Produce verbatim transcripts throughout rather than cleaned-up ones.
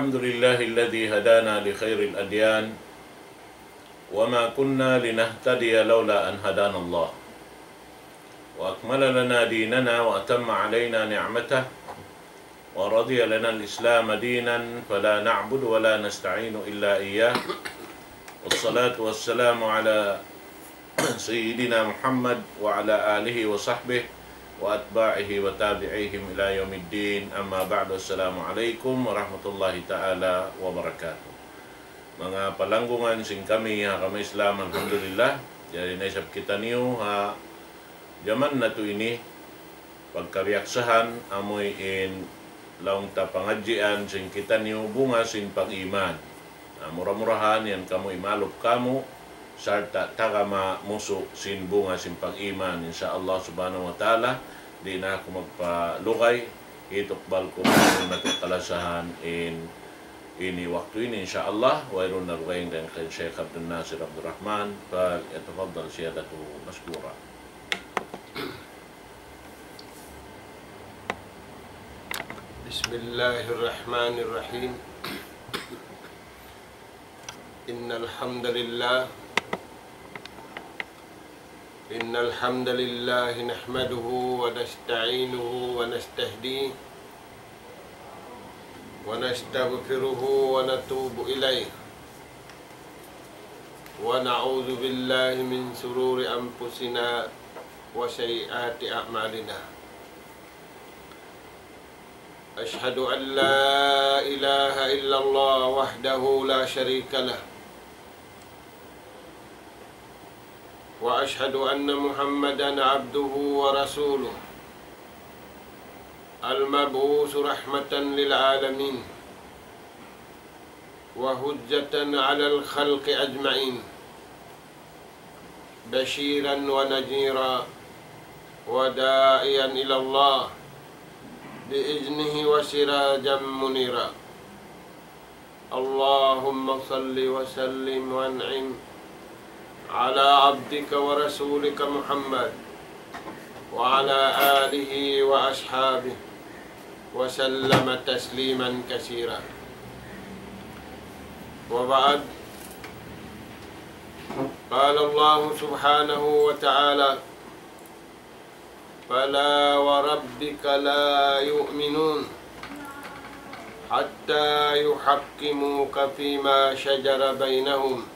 الحمد لله الذي هدانا لخير الأديان وما كنا لنهتدي لولا أن هدانا الله وأكمل لنا ديننا وأتم علينا نعمته ورضي لنا الإسلام دينا فلا نعبد ولا نستعين إلا إياه والصلاة والسلام على سيدنا محمد وعلى آله وصحبه وأتباعه وتابعيهم إلى يوم الدين. أما بعد، السلام عليكم ورحمة الله تعالى وبركاته. Manga palanggungan sin kami ha agama Islam, alhamdulillah. Jari na isab kitaniyu ha jaman natu' ini, pagkabiyaksahan, amuin laung ta pangadjian sin kitaniyu bunga sin pag-iman. Na mura-murahan yan kamu imalup kamu, sarta' tagama musu sin bunga sin pag-iman, insya Allah subhanahu wa ta'ala. Di' na aku magpalugay, hitukbal ku na natu' kalasahan in ini waktu ini, insya Allah, wayruun na dugaing dayn kan Sheikh Abdul Nasir Abdul Rahman, فليتفضل سيادته مشكورا. بسم الله الرحمن الرحيم. إن الحمد لله، إن الحمد لله نحمده ونستعينه ونستهديه ونستغفره ونتوب إليه، ونعوذ بالله من شرور أنفسنا وسيئات أعمالنا. أشهد أن لا إله إلا الله وحده لا شريك له، وأشهد أن محمدا عبده ورسوله، المبعوث رحمة للعالمين، وحجة على الخلق أجمعين، بشيرا ونذيرا، وداعيا إلى الله بإذنه وسراجا منيرا. اللهم صل وسلم وأنعم على عبدك ورسولك محمد وعلى آله وأصحابه وسلم تسليما كثيرا. وبعد، قال الله سبحانه وتعالى: فلا وربك لا يؤمنون حتى يحكموك فيما شجر بينهم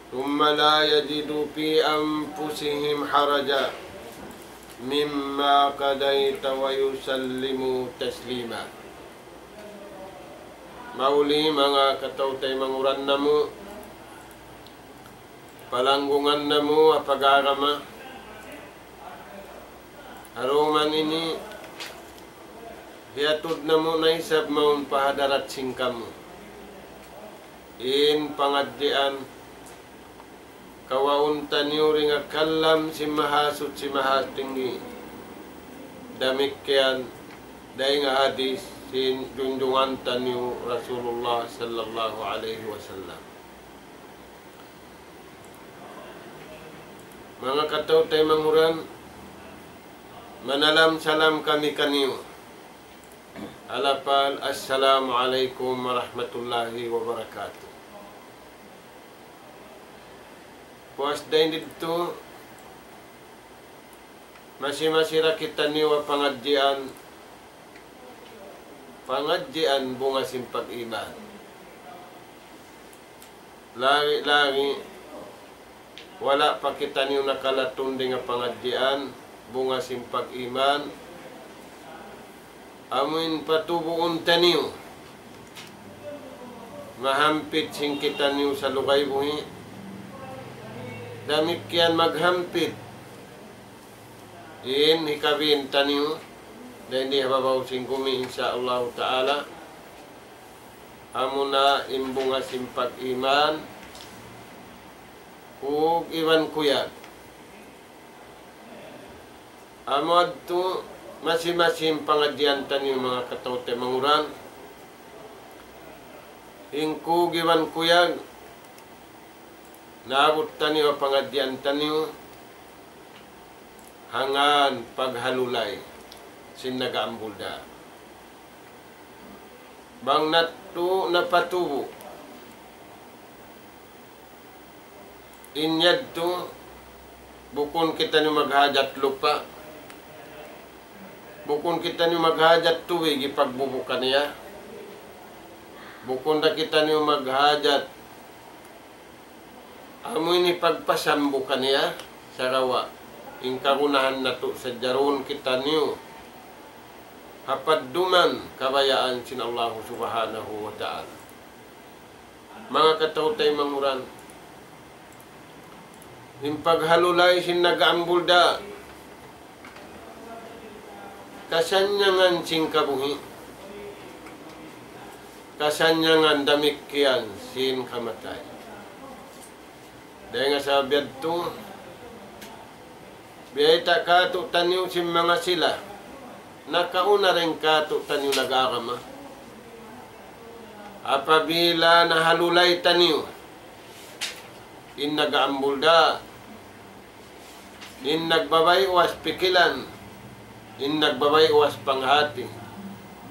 ثم لا يجدوا في أنفسهم حرجا مما قضيت ويسلموا تسليما. Mahuli manga kataw-taymanghuran namu', palanggungan namu' ha pag-agama, ha dumatung ini, hiyatud namu' na isab mawn pa hadarat sin kamu in pangadjian kawaun taniyu dayn ha kalam sin Mahasuchi Mahatinggi. Damikkiyan dayn ha hadis sin junjungan taniyu Rasulullah sallallahu alayhi wasallam. Manga kataw-taymanghuran, manalam salam kami kaniyu. Alapal, assalamu alaykum warahmatullahi wabarakatuh. Puas dayn didtu, masi-masi da kitaniyu ha pangadjian, pangadjian bunga sin pag-iman. Lagi'-lagi', wala' pa kitaniyu nakalatun dayn ha pangadjian bunga sin pag-iman. Amuin patubuun taniyu, mahampit sin kitaniyu salugay buhi', damikkiyan maghampit in hikabin taniyu dayn di ha babaw sin gumi, insya Allahu ta'ala. Amuna in bunga sin pag-iman, kug iban kuyag. Amu yadtu masi-masi in pangadjian taniyu, manga kataw-taymanghuran. In kug iban kuyag, naabut taniyu ha pangadjian taniyu, hangkan paghalulay sin nag-aambul da. Bang natu' napatubu'. In yadtu, bukun kitaniyu maghajat lupa'. Bukun kitaniyu maghajat tubig hipagbubu' kaniya. Bukun da kitaniyu maghajat amu ini pagpasambu kaniya, sagawa' in kagunahan natu' sadja duun kitaniyu ha padduman kabayaan sin Allahu Subhanahu wa Ta'ala. Manga kataw-taymanghuran, in paghalulay sin nag-aambulda', kasannyangan sin kabuhi', kasannyangan damikkiyan sin kamatay. Dayn ha sabab yadtu, biyayta' kātu'niyu sin manga sila nakauna dayn kātu'niyu nag-agama. Apabila nahalulay taniyu in nag-aambulda', in nagbabay' uwas pikilan, in nagbabay' uwas panghati,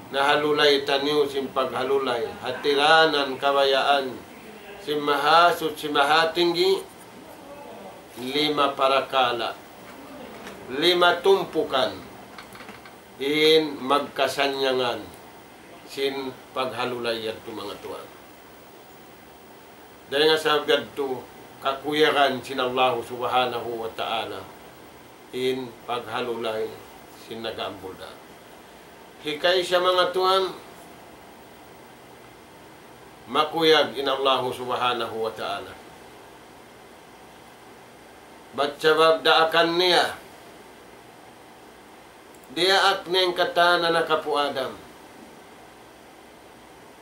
nahalulay taniyu sin paghalulay ha tiranan kabayaan sin Mahasuchi Mahatinggi, lima parakala', lima tumpukan in magkasannyangan sin paghalulay yadtu, manga tuwan. Dayn ha sabab yadtu, kakuyagan sin Allahu Subhanahu wa Ta'ala in paghalulay sin nag-aambulda'. Hikaisa, manga tuwan, makuyag in Allahu Subhanahu wa Ta'ala. Bat sabab daakan niya, diyaak niya in katan anak apu' Adam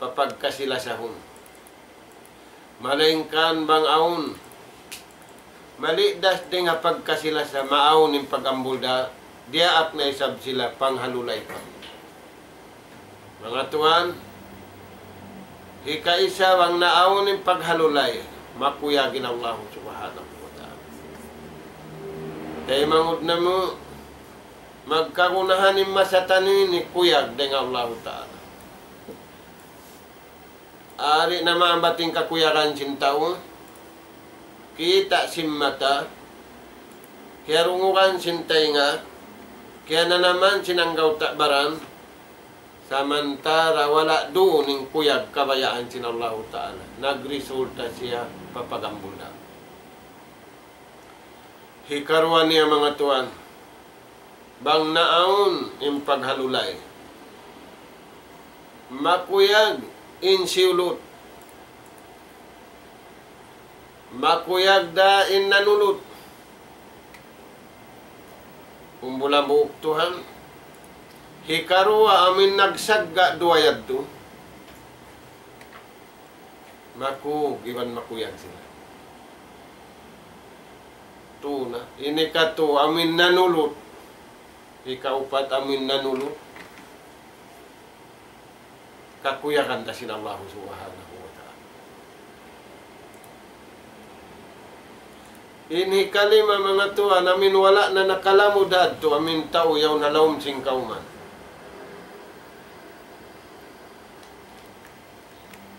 pa pagkasi-lasahun. Malaingkan bang awn malidas dayn ha pagkasi-lasa, maawn in pag-ambulda', diyaak na isab sila panghalulay pa. Manga tuwan, hikaisa bang naawn in paghalulay, makuyag in Allahu Subhanahu wa Ta'ala. Taymanghud namu', magkagunahan in masa taniyu ini kuyag dayn ha Allahu Ta'ala. Ari na maambat in kakuyagan sin tau, kita' sin mata, kiyarungugan sin taynga, kiyananaman sin anggawta' baran, samantara' wala' duun in kuyag kabayaan sin Allahu Ta'ala. Nagresulta siya pa pag-ambulda'. Hikaruwa niya, manga tuwan, bang naawn in paghalulay, makuyag in siyulut, makuyag da in nanulut. Kumbulan buuk tuhan. Hikaruwa, amin nagsagga' duwa yadtu, makug iban makuyag sila. Tuna. Ini katu' amin nanulut. Hikaupat amin nanulut. Kakuyagan da sin Allahu Subhanahu wa Ta'ala. Ini kalima, manga tuwan, amin wala' na nakalamud yadtu, amin tau yaun ha lawm sin kawman.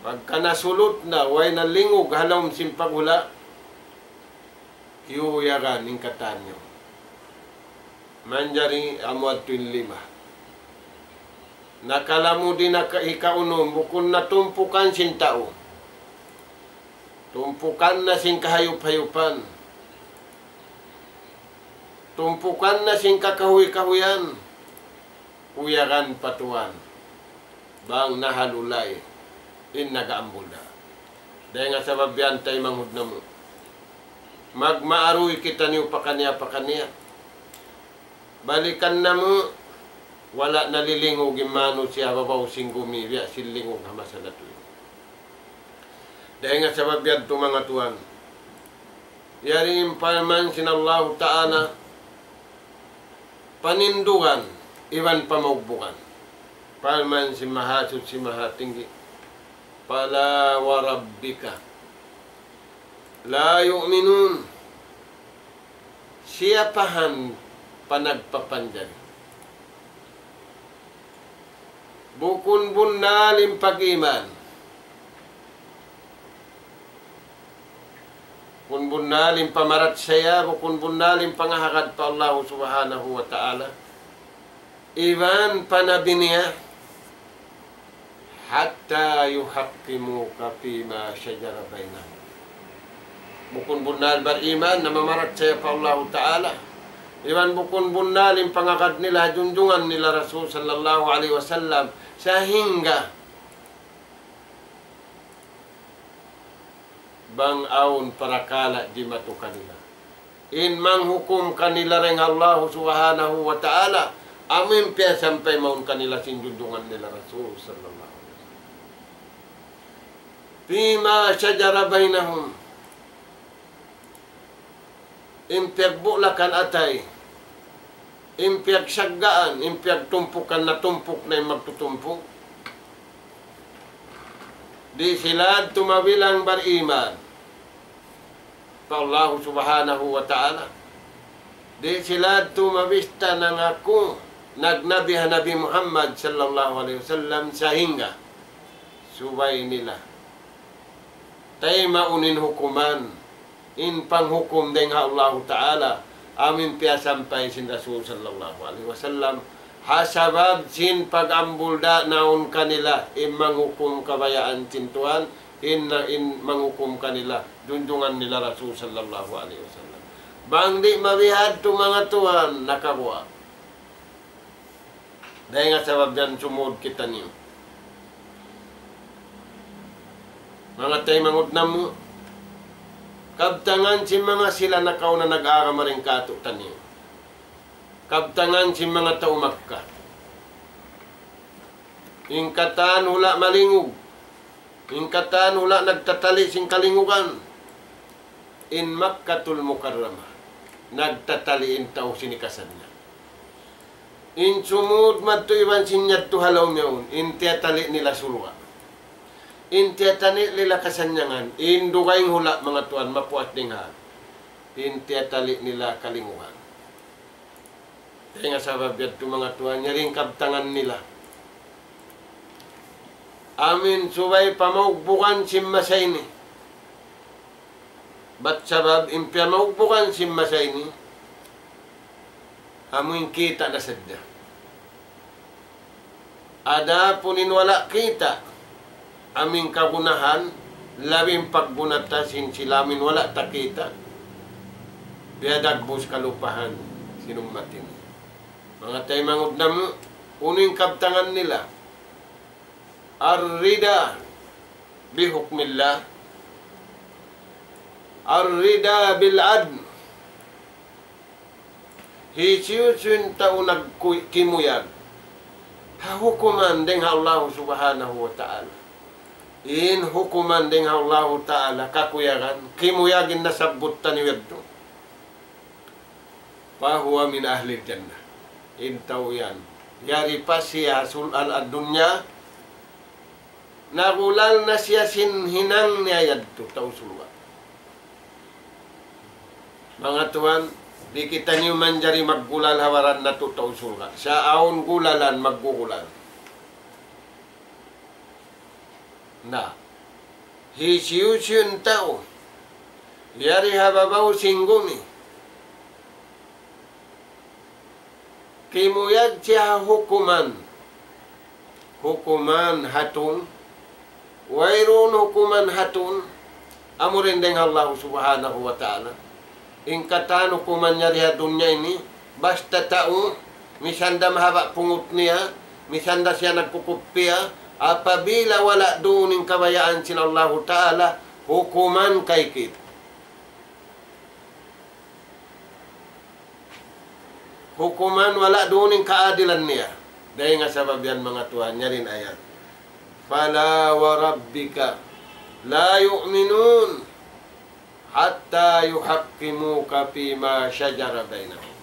Pagka nasulut na, way na lingug ha lawm sin paghula', kiyuyagan in katan niya. Manjari amu yadtu in lima. Nakalamud in naka-, hikaunum, bukun na tumpukan sin tau. Tumpukan na sin kahayup-hayupan. Tumpukan na sin kakahuy-kahuyan. Kuyagan pa tuwan bang nahalulay in nag-aambulda'. Dayn ha sabab yan, taymanghud namu', magmaaruy kitaniyu pakaniya-pakaniya. Balikan namu', wala' nalilingug in manusiya' ha babaw sin gumi, biya' sin lingug ha masa natu' ini. Dayn ha sabab yadtu, manga tuwan, yari in parman sin Allahu Ta'ala, panindugan iban pamaugbugan. Parman sin Mahasuchi Mahatinggi, فلا وربك لا يؤمنون. Siyapahan panagpapanjari. Bukun bunnal in pag-iman. Bukun bunnal in pamarachaya, bukun bunnal in pangahagad pa Allahu Subhanahu wa Ta'ala. Iban pa Nabi niya, حتى يحكموك فيما شجر بينهم. Bukun bunnal bariman, namamarachaya pa Allahu Ta'ala. Iban bukun bunnal in pangagad nila, junjungan nila Rasul sallallahu alayhi wasallam, sahingga bang awn parakala' dimatu kanila. In manghukum kanila dayn ha Allahu Subhanahu wa Ta'ala, amu in piyasampay mawn kanila sin junjungan nila Rasul sallallahu alayhi wasallam. فيما شجر بينهم. In piyagbulakan atay, in piyagsaggaan, in piyagtumpukan, natumpuk na in magtutumpuk. Di' sila tumabilang bariman pa Allahu Subhanahu wa Ta'ala. Di' sila tumabista nangaku nagnabi ha Nabi Muhammad sallallahu alayhi wasallam, sahingga subay nila taymaun in hukuman, in panghukum dayn ha Allahu Ta'ala, amu in piyasampay sin Rasul sallallahu alayhi wasallam, ha sabab sin pag-ambul da naun kanila in manghukum kabayaan sin Tuhan, in, in manghukum kanila, junjungan nila Rasul sallallahu alayhi wasallam. Bang di' mabihad tu manga tuwan, nakabuwa'. Dayn ha sabab yan sumud kitaniyu. Manga taymanghud namu', kabtangan sin manga sila nakauna nag-agama dayn kātu'niyu. Kabtangan sin manga tau Makkah. In katan hula' malingug. In katan hula' nagtatali' sin kalingugan. In Makkatul Mukarramah, nagtatali' in tau sin hikasannyang. In sumud madtu iban sin yadtu ha lawm yaun, in tiyatali' nila surga'. In tiyatali' nila kasannyangan, in dugaing hula' manga tuwan mapuas dayn ha, in tiyatali' nila kalingugan. Dayn ha sabab yadtu manga tuwan, yari in kabtangan nila. Amu in subay pamaugbugan sin masa ini. Bat sabab in piyamaugbugan sin masa ini, amu in kita' na sadja. Adapun in wala' kita', amu in kagunahan, labi in pagguna ta sin sila amu in wala' ta kita', biyadagbus kalupahan sin ummat ini. Manga taymanghud namu', unu in kabtangan nila? الرضا بحكم الله، الرضا بالعدل. Hisiyu-siyu in tau nagku-, kimuyag ha hukuman dayn ha Allahu Subhanahu wa Ta'ala. In hukuman dayn ha Allahu Ta'ala kakuyagan, kimuyag in nasabbut taniyu yadtu. فهو من أهل الجنة. In tau yan, yari pa siya sul-, al-, ad-dunya, nagulal na siya sin hinang niya yadtu, tau surga'. Manga tuwan, di' kitaniyu manjari maggulal ha baran natu' tau surga'. Sa' awn gulalan, maggugulal. Na, hisiyu-siyu in tau yari ha babaw sin gumi, kimuyag siya ha hukuman, hukuman hatun, wayruun hukuman hatun, amu dayn ha Allahu Subhanahu wa Ta'ala. In katan hukuman niya di ha dunya ini, basta tau, misan da mahaba' pungut niya, misan da siya nagkukuppiya, apabila wala' duun in kabayaan sin Allahu Ta'ala, hukuman kaikit. Hukuman wala' duun in kaadilan niya. Dayn ha sabab yan manga tuwan, yari in ayat. فلا وربك لا يؤمنون حتى يحكموك فيما شجر بينهم.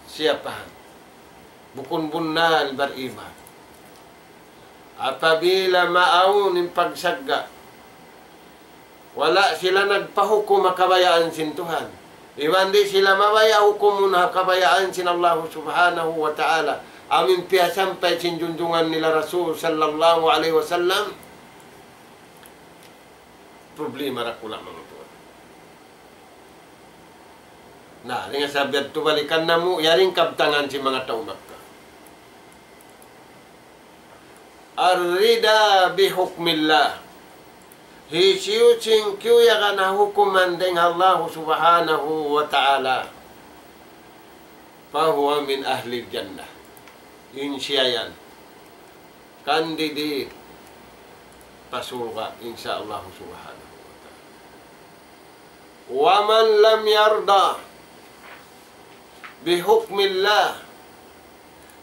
Siyapahan? Bukun bunnal bariman. Apabila maawn in pagsagga', wala' sila nagpahukum ha kabayaan sin Tuhan. Iban di' sila mabaya' hukumun ha kabayaan sin Allahu Subhanahu wa Ta'ala. amu in piyasampay sin junjungan nila Rasul sallallahu alayhi wasallam, problema dakula' manga tuwan. Na, dayn ha sabab yadtu balikan namu', yari in kabtangan sin manga tau Makkah. الرضا بحكم الله. Hisiyu-siyu in kiyabayaan ha hukuman dayn ha Allah subhanahu wa ta'ala, فهو من أهل الجنة. In siya yan, candidate pa surga', insya Allah subhanahu wa ta'ala. ومن لم يرض بحكم الله.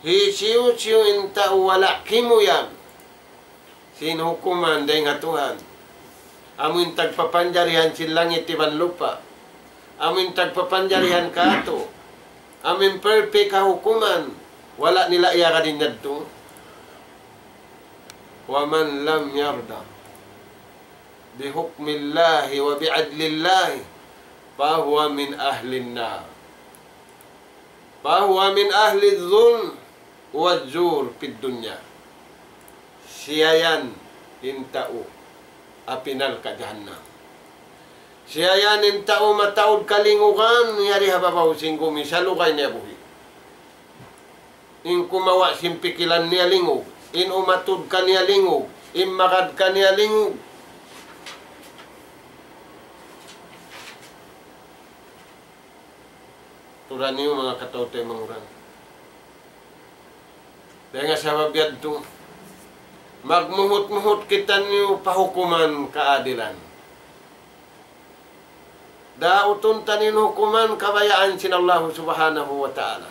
Hisiyu-siyu in tau wala' kimuyag sin hukuman dayn ha Tuhan. Amu in tagpapanjarihan sin langit iban lupa'. Amu in tagpapanjarihan kātu'. Amu in perfect ha hukuman. Wala' nila iyagad in yadtu. ومن لم يرض بحكم الله وبعدل الله فهو من أهل النار. فهو من أهل الظلم والزور في الدنيا. Siya yan in tau api narka' jahannam. Siya yan in tau mataud kalingugan yari ha babaw sin gumi salugay niya buhi'. In kumawa' sin pikilan niya lingug, in umatud kaniya lingug, in magad kaniya lingug. Tuud niyu manga kataw-taymanghuran. Dayn ha sabab yadtu, magmuhut-muhut kitaniyu pa hukuman kaadilan. Dautun taniyu in hukuman kabayaan sin Allahu subhanahu wa ta'ala.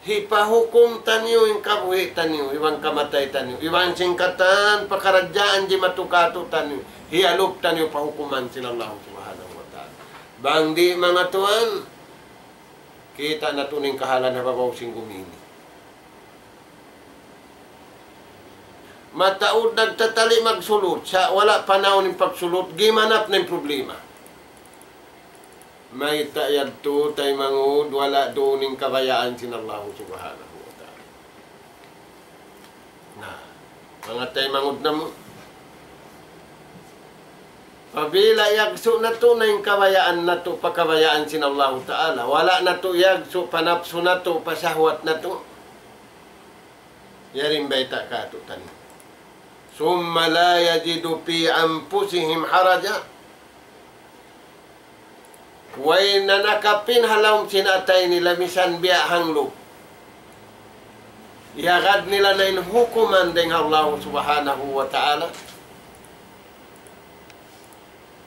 Hipahukum taniyu in kabuhi' taniyu, iban kamatay taniyu, iban sin katan pakaradjaan jimatu kātu'niyu, hiyalup taniyu pa hukuman sin Allahu subhanahu wa ta'ala. Bang di' manga tuwan, kita' natu' in kahalan ha babaw sin gumi ini. Mataud nagtatali' magsulut, sa' wala' panaw in pagsulut, gimanap na in problema. Mayta' yadtu, taymanghud, wala' duun in kabayaan sin Allahu subhanahu wa ta'ala. Na, manga taymanghud namu'. Apabila iyagsu' natu' na in kabayaan natu' pa kabayaan sin Allahu ta'ala, wala' natu' iyagsu' pa napsu natu', pa sahwat natu', yari in bayta' kātu'niyu. ثم لا يجدوا في أنفسهم حرجا. Way nanakapin ha lawm sin atay nila misan biya' hanglup. Iyagad nila na in hukuman dayn ha Allah subhanahu wa ta'ala.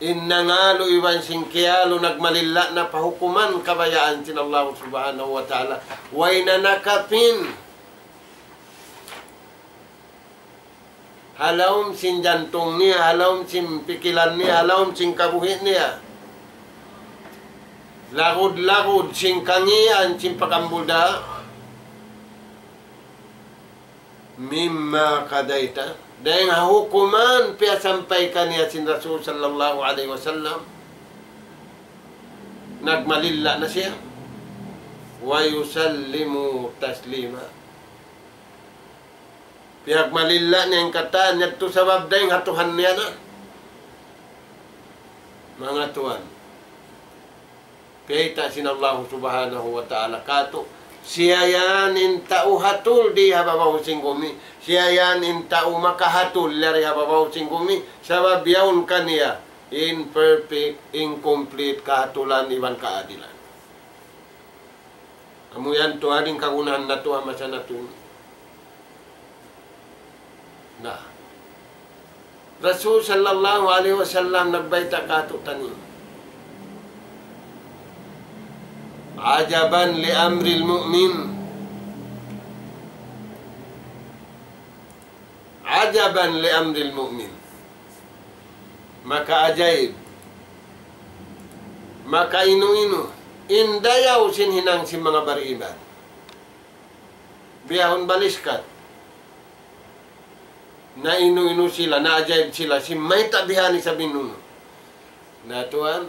In nangalu iban sin kiyalu nagmalilla' na pa hukuman kabayaan sin Allah subhanahu wa ta'ala. Way nanakapin ha lawm sin jantung niya, ha lawm sin pikilan niya, ha lawm sin kabuhi' niya. Lagud-lagud sin kangīan, sin pagambul da. مما قضيت. Dayn ha hukuman piyasampay kaniya sin Rasul sallallahu alayhi wasallam. Nagmalilla' na siya. ويسلموا تسليما. Piyagmalilla' niya in katan yadtu sabab dayn ha Tuhan niya na. Manga tuwan, kiyita' sin Allah subhanahu wa ta'ala kātu', siya yan in tau hatul di ha babaw sin gumi, siya yan in tau makahatul yari ha babaw sin gumi, sabab yaun kaniya in perfect, in complete kahatulan iban kaadilan. Amu yan tuud in kagunahan natu' ha masa natu'. Na, Rasul sallallahu alayhi wasallam nagbayta' kātu'niyu, عجبا لأمر المؤمن. عجبا لأمر المؤمن. Makaajaib, makainu-inu in dayaw sin hinang sin manga bariman. Biyahun baliskat, nainu-inu sila, naajaib sila, sin mayta' bihan isab in unu. Na tuwan,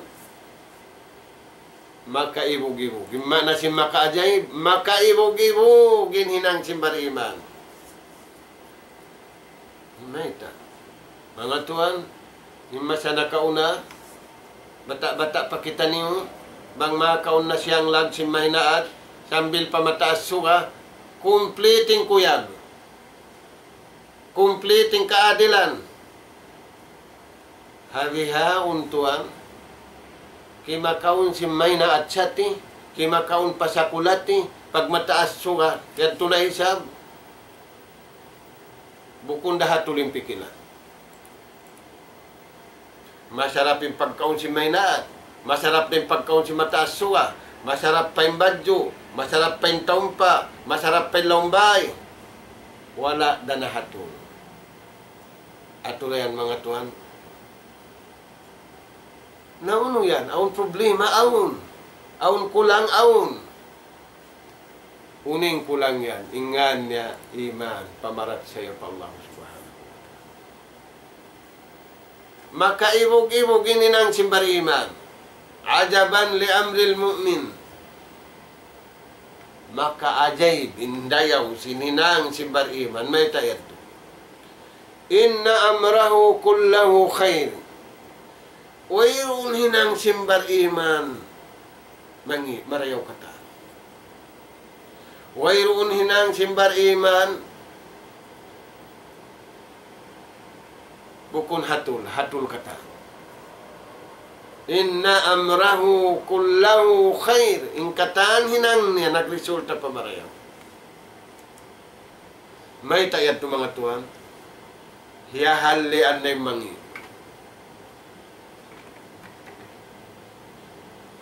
Makaibug-ibug. In maana sin makaajaib, makaibug-ibug in hinang sin bariman. Mayta'? Manga tuwan, in masa nakauna, bata'-bata' pa kitaniyu, bang makaun na siyanglag sin mahinaat, sambil pa mataas suga, complete in kuyag. Complete in kaadilan. Ha bihaun tuwan, kimakaun sin mahinaat sati, kimakaun pa sakulati, pag mataas suga, yadtu na isab. Bukun da hatul in pikilan. Masarap in pagkaun sin mahinaat, masarap da in pagkaun sin mataas suga, masarap pa in badju', masarap pa in taumpa', masarap pa in laumbay. Wala' da na hatul. Atu na yan, manga tuwan. Na unu yan, awn problema, awn. Awn kulang, awn. Unu in kulang yan, in ngan niya iman, pamarachaya pa Allah Subhanahu wa Ta'ala. Makaibug-ibug in hinang sin bariman. عجبا لأمر المؤمن. Makaajaib in dayaw sin hinang sin bariman. Mayta' yadtu? إن أمره كله خير. Wayruun hinang sin bariman mangi', marayaw katan. Wayruun hinang sin bariman bukun hatul, hatul katan. إن أمره كله خير. In katan hinang niya nagresulta pa marayaw. Mayta' yadtu, manga tuwan? Hiyahallian na in mangi'.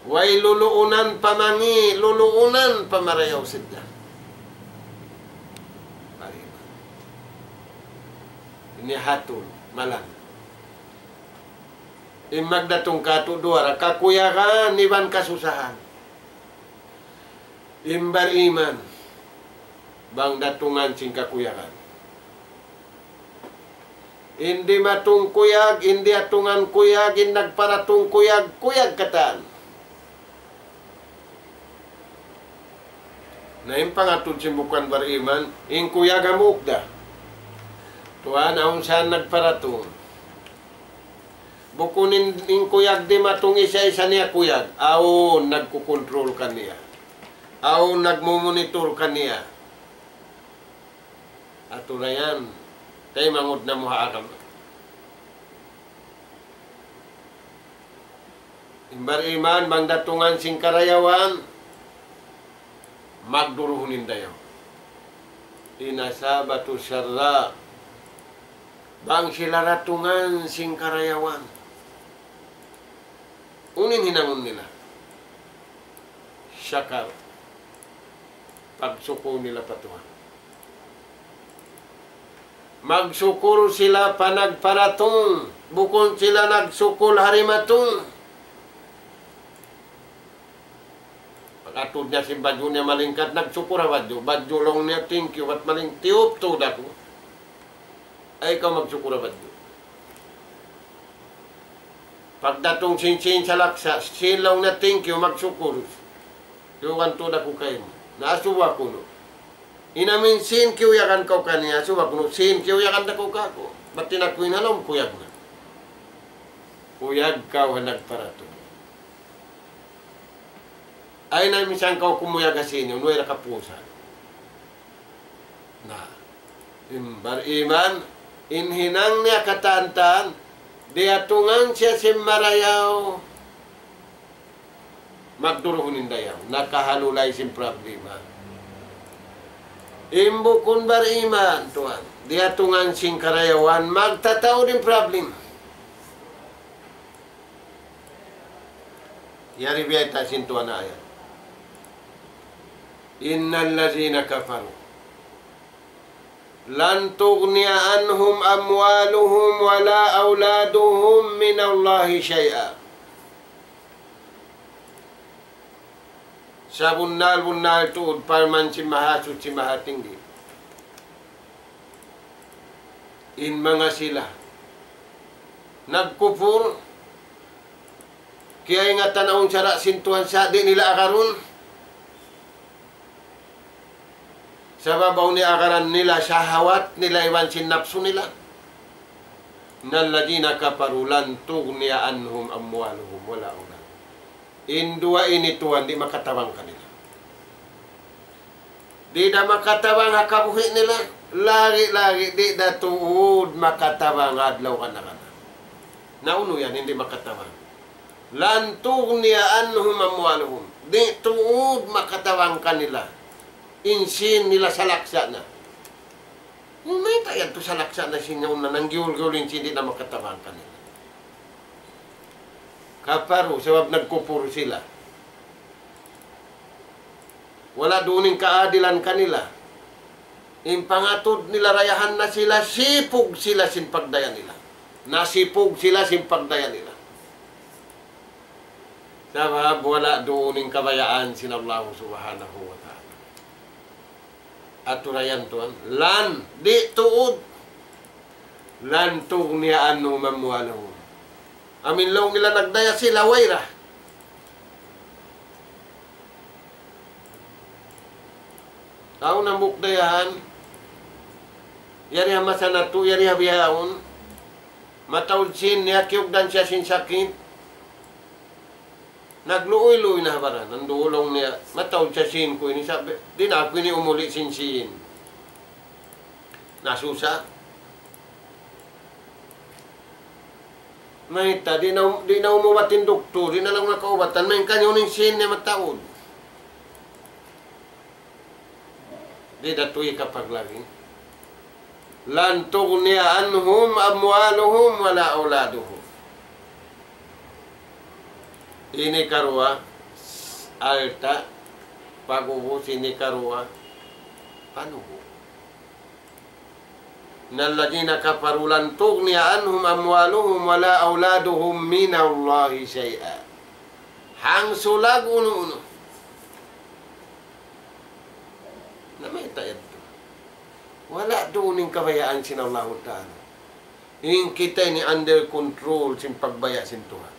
Way luluunan pa mangi', luluunan pa marayaw sadja. Ini hatul, malan. In magdatung katu' duwa ra, kakuyagan iban kasusahan. In bariman, bang datungan sin kakuyagan. In dimatung kuyag, in diyatungan kuyag, in nagparatung kuyag, kuyag katan. Na in pangatud sin bukun bariman, in kuyag hambuuk da. Tuwan, awn siya nagparatung. Bukun in, in kuyag dimatung isa-isa niya kuyag. Awn nagkukontrol kaniya. Awn nagmumonitor kaniya. Atu na yan. Taymanghud namu' ha agama. In bariman bang datungan sin karayawan, magduruhun in dayaw. إن أصابته سراء. Bang sila datungan sin karayawan, unu in hinangun nila? شكر. Pagsukul nila pa Tuhan. Magsukul sila pa nagparatung, bukun sila nagsukul ha dimatung. Pag-atud niya sin badju' niya malingkat, nagsukul ha badju'. Badju' laung niya, "Thank you, bat maling tiyup tuud aku." Ay kaw magsukul ha badju'. Pagdatung sin, sin salaksa', sin laung niya, "Thank you, magsukul. Tiyugan tuud aku kaymu. Na asubu kunu'. In amin sin kiyuyagan kaw kaniya, asubu kunu', sin kiyuyagan da kaw kāku'. Bat in aku in ha lawm kuyag na." Kuyag kaw ha nagparatung. Ay na minsan kaw kumuyag ha sin, unu, way ra kapusan. Na, in bariman, in hinang niya katan-katan, diyatungan siya sin marayaw, magduruhun in dayaw, nakahalulay sin problema. In bukun bariman, tuwan, diyatungan sin karayawan, magtataud in problema. Yari biyayta' sin Tuhan ayat. إن الذين كفروا لن تغني عنهم أموالهم ولا أولادهم من الله شيئا. Sabunnal-bunnal tuud parman sin Mahasuchi Mahatinggi. In manga sila nagkupur, Kiyaingatan awn sara' sin Tuhan sa' di' nila agarun. Sabab awn iyagaran nila shahawat nila iban sin napsu nila. إن الذين كفروا لن تغني عنهم أموالهم ولا أولادهم. In duwa ini tuwan di' makatabang kanila. Di' da makatabang ha kabuhi' nila, lagi'-lagi' di' da tuud makatabang adlaw kana-kana. Na unu yan, di' makatabang. لن تغني عنهم أموالهم. Di' tuud makatabang kanila in sīn nila salaksa' na. Mayta' yadtu salaksa' na sīn yaun na nanggiyul-giyul in sīn di' na makatabang kanila. Kaparu, sabab nagkupur sila. Wala' duun in kaadilan kanila. In pangatud nila dayahan na sila, sipug sila sin pagdaya nila. Nasipug sila sin pagdaya nila. Sabab wala' duun in kabayaan sin Allah Subhanahu wa Ta'ala. Aturan yan tuwan. لن, di' tuud. لن تغني عنهم أموالهم. Amu in laung nila nagdaya sila, way ra. Awn hambuuk dayahan, yari ha masa natu', yari ha bihaun, mataud sīn niya, kiyugdan siya sin sakit. Nagluuy-luuy na ha baran, nanduhulung niya, mataud sa sīn ku ini, sa' di' na aku ini umuli' sin sīn. Nasusa. Mayta', di' na, di' na umubat in duktur, di' na laung nakaubatan, main kaniya in sīn niya mataud. Di' da tuud kapaglagi'. لن تغني عنهم أموالهم ولا أولادهم. Ini karuwa, alta', pag'ubus ini karuwa, panubu'. إن الذين كفروا لن تغني عنهم أموالهم ولا أولادهم من الله شيئا. Hangsulag unu-unu. Na mayta' yadtu. Wala' duun in kabayaan sin Allahu Ta'ala. In kita ini under control sin pagbaya' sin Tuhan.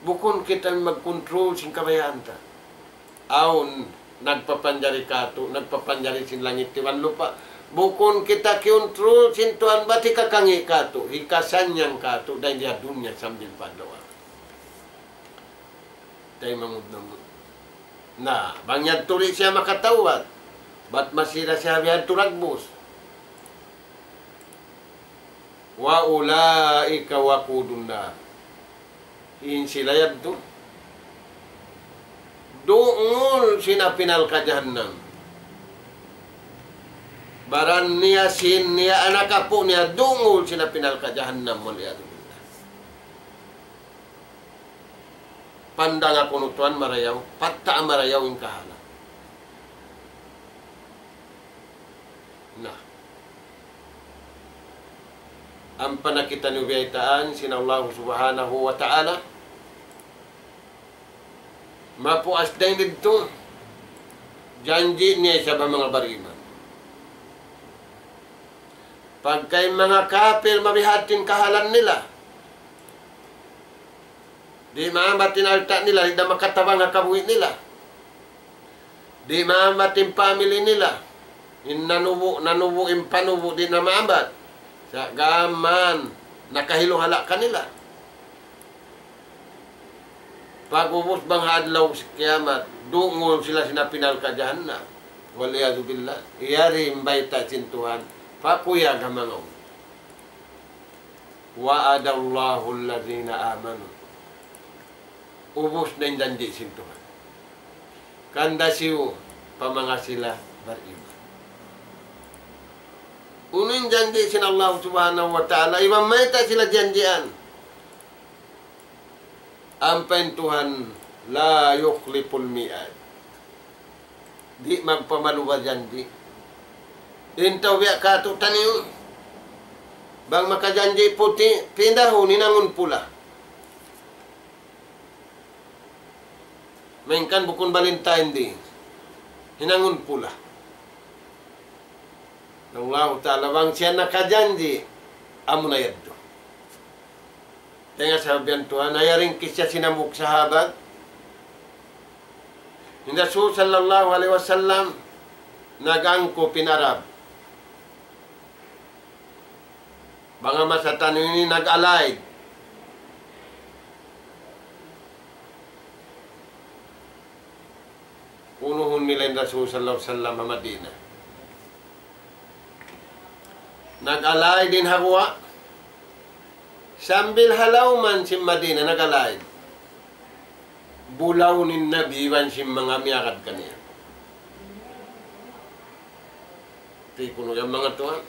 Bukun kita in magkontrol sin kabayaan ta. Awn nagpapanjari kātu', nagpapanjari sin langit iban lupa'. Bukun kita kiyontrol sin Tuhan, bat hikakangi' kātu', hikasannyang kātu', dayn di ha dunya sambil pa adlaw akhirat. Taymanghud namu'. Na, bang yadtu di' siya makatawbat, bat masi da siya biyadtu dagbus. وأولئك وقود النار. In sila yadtu, dungul sin api narka' jahannam. Baran niya, sīn niya, anak apu' niya, dungul sin api narka' jahannam, والعياذ بالله. Pandanga kunu' tuwan marayaw, patta' marayaw in kahalan. Na. Ampa na kitaniyu biyaytaan sin Allah Subhanahu wa Ta'ala. Mapuas dayn didtu, janji' niya isab ha manga bariman. Pagka in manga kapil mabihat in kahalan nila, di' maambat in alta' nila, di' da makatabang ha kabuhi' nila. Di' maambat in family nila. In nanubu', nanubu', in panubu', di' na maambat. Sa' gām nakahiluhala' kanila. Pag'ubus bang ha adlaw kiyamat, dungul sila sin api narka' jahannam. والعياذ بالله. Yari in bayta' sin Tuhan, pakuyag ha manga unu. وعد الله الذين آمنوا. Ubus na in janji' sin Tuhan kanda hisiyu, pa manga sila bariman. Unu in janji' sin Allah Subhanahu wa Ta'ala, iban mayta' sila janjian? Ampa in Tuhan, لا يخلف الميعاد. Di' magpamaluba janji'. In tau biya' kātu'niyu, bang makajanji' puti', pindahun hinangun pula. Malayngkan bukun Valentine Day, hinangun pula. Allahu Ta'ala, bang siya nakajanji', amuna yadtu. Taymanghud ha Tuhan, na yari in kissa sin hambuuk sahabat. In Rasul sallallahu alayhi wasallam nag-angkup in Arab. Bang ha masa taniyu ini nag-allied. Unuhun nila in Rasul sallallahu alayhi wasallam ha Madina. Nag-allied in ha guwa'. Sambil ha lawm sin Madina nag-allied. Bulawun in Nabi iban sin manga miyagad kaniya. Di' kunu' yan manga tuwan.